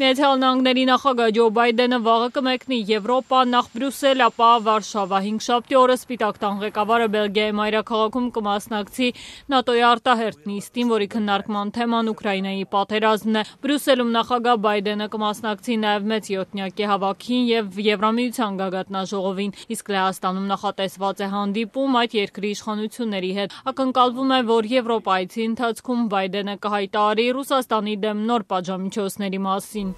Միացյալ Նահանգների նախագահ Ջո Բայդենը վաղը կմեկնի Եվրոպա, նախ Բրյուսել, ապա Վարշավա։ Հինգշաբթի օրը Սպիտակ տան ղեկավարը Բելգիայի մայրաքաղաքում կմասնակցի ՆԱՏՕ-ի արտահերթ նիստին, որի քննարկման թեման Ուկրաինայի պատերազմն է։ Բրյուսելում նախագահ Բայդենը կմասնակցի նաև մեծ յոթնյակի հավաքին եւ Եվրամիության գագաթնաժողովին, իսկ Լեհաստանում նախատեսված է հանդիպում այդ երկրի իշխանությունների հետ։ Ակնկալվում է, որ Եվրոպայցի ընթացքում Բայդենը կհայտարարի Ռուսաստանի դեմ նոր պատժամիջոցների մասին։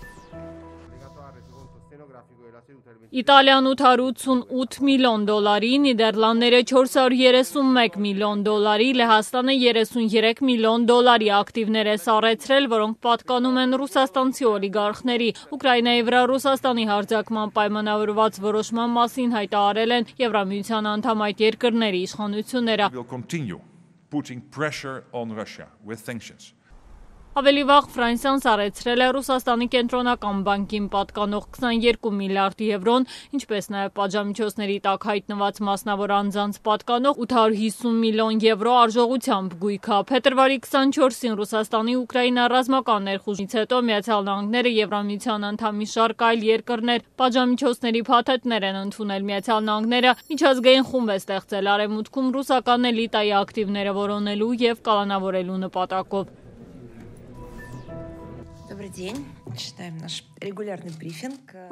Իտալիան 888 միլիոն դոլարի, Նիդերլանդները 431 միլիոն դոլարի, Լեհաստանը 33 միլիոն դոլարի ակտիվներ է սառեցրել, որոնք պատկանում են ռուսաստանցի օլիգարխների։ Ուկրաինայի վրա Ռուսաստանի հարձակման պայմանավորված որոշման մասին հայտարարել են Եվրամիության անդամ այդ երկրների իշխանությունները։ Ավելի վաղ Ֆրանսիան սառեցրել է Ռուսաստանի կենտրոնական բանկին պատկանող 22 միլիարդ եվրոն, ինչպես նաև պատժամիջոցների տակ հայտնված մասնավոր անձանց պատկանող 850 միլիոն եվրո արժողությամբ գույքը։ Փետրվարի 24-ին Ռուսաստանի Ուկրաինա ռազմական ներխուժից հետո Միացյալ Նահանգները Եվրամիության անդամ մի շարք այլ երկրներ պատժամիջոցների փաթեթներ են ընդունել։ Միացյալ Նահանգները միջազգային խումբ է ստեղծել Արևմուտքում ռուսական էլիտայի ակտիվները որոնելու եւ կալանավորելու նպատակով։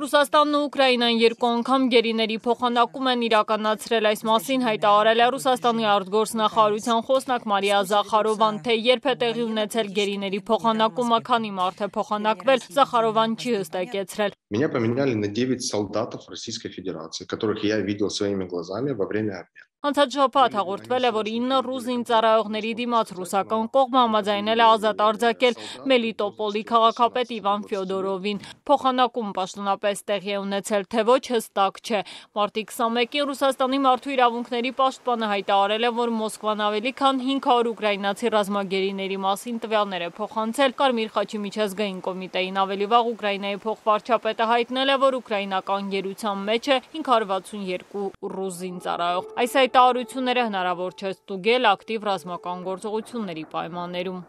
Ռուսաստանն ու Ուկրաինան երկու անգամ գերիների փոխանակում են իրականացրել, այս մասին հայտարարել է Ռուսաստանի արտգործնախարարության խոսնակ Մարիա Զախարովան, թե երբ է տեղի ունեցել գերիների փոխանակումը, քանի մարդ է փոխանակվել, Զախարովան չի հստակեցրել։ Меня поменяли на 9 солдатов Российской Федерации, которых я видел своими глазами во время обмена. Անցած շաբաթ հաղորդվել է, որ 9 ռուս զինծառայողների դիմաց ռուսական կողմը համաձայնել է ազատ արձակել Մելիտոպոլի քաղաքապետ Իվան Ֆյոդորովին։ Փոխանակում պաշտոնապես տեղի է ունեցել, թե ոչ հստակ չէ։ Մարտի 21-ին Ռուսաստանի մարդու իրավունքների պաշտպանը հայտարարել է, որ Մոսկվան ավելի քան 500 ուկրաինացի ռազմագերիների մասին տվյալներ է փոխանցել Կարմիր խաչի միջազգային կոմիտեին։ Ավելի վաղ Ուկրաինայի փոխվարչապետը հայտնել է, որ ուկրաինական գերության մեջ է 562 ռուս զինծառայող։ Այս հայտարարությունները հնարավոր չէ ստուգել ակտիվ ռազմական գործողությունների պայմաններում։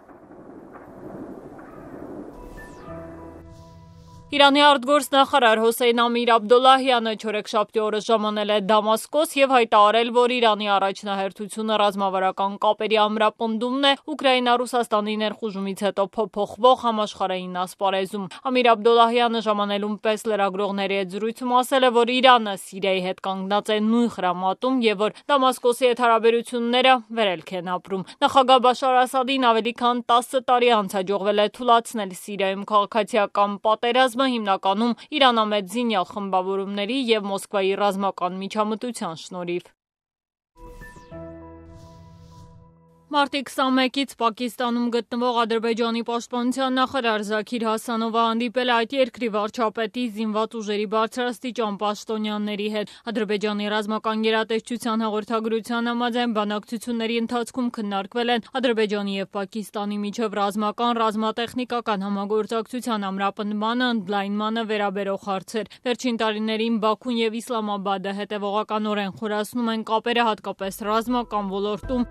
Իրանի արտգործնախարար Հոսեյն Ամիր Աբդոլլահյանը չորեքշաբթի օրը ժամանել է Դամասկոս եւ հայտարարել, որ Իրանի առաջնահերթությունը ռազմավարական կապերի ամրապնդումն է Ուկրաինա-Ռուսաստանի ներխուժումից հետո փոփոխվող համաշխարհային ասպարեզում։ Ամիր Աբդոլլահյանը ժամանելում պես լրագրողների հետ զրույցում ասել է, որ Իրանը Սիրիայի հետ կանգնած է նույն խրամատում եւ որ Դամասկոսի հետ հարաբերությունները վերելք են ապրում։ Նախագահ Բաշար Ասադին ավելի քան 10 տարի անց հաջողվել է թուլացնել Սիրիայում քաղաքացիական պատերազմը, հիմնականում իրանամետ զինյալ խմբավորումների եւ Մոսկվայի ռազմական միջամտության շնորհիվ։ Մարտի 21-ից Պակիստանում գտնվող Ադրբեջանի պաշտպանության նախարար Զաքիր Հասանովը հանդիպել է այդ երկրի վարչապետի, զինված ուժերի բարձրաստիճան պաշտոնյաների հետ։ Ադրբեջանի ռազմական գերատեսչության հաղորդագրության համաձայն բանակցությունների ընթացքում քննարկվել են Ադրբեջանի եւ Պակիստանի միջև ռազմական, ռազմատեխնիկական համագործակցության ամրապնդմանը, ընդլայնմանը վերաբերող հարցեր։ Վերջին տարիներին Բաքուն եւ Իսլամաբադը հետեւողականորեն խորացնում են կապերը հատկապես ռազմական ոլորտում։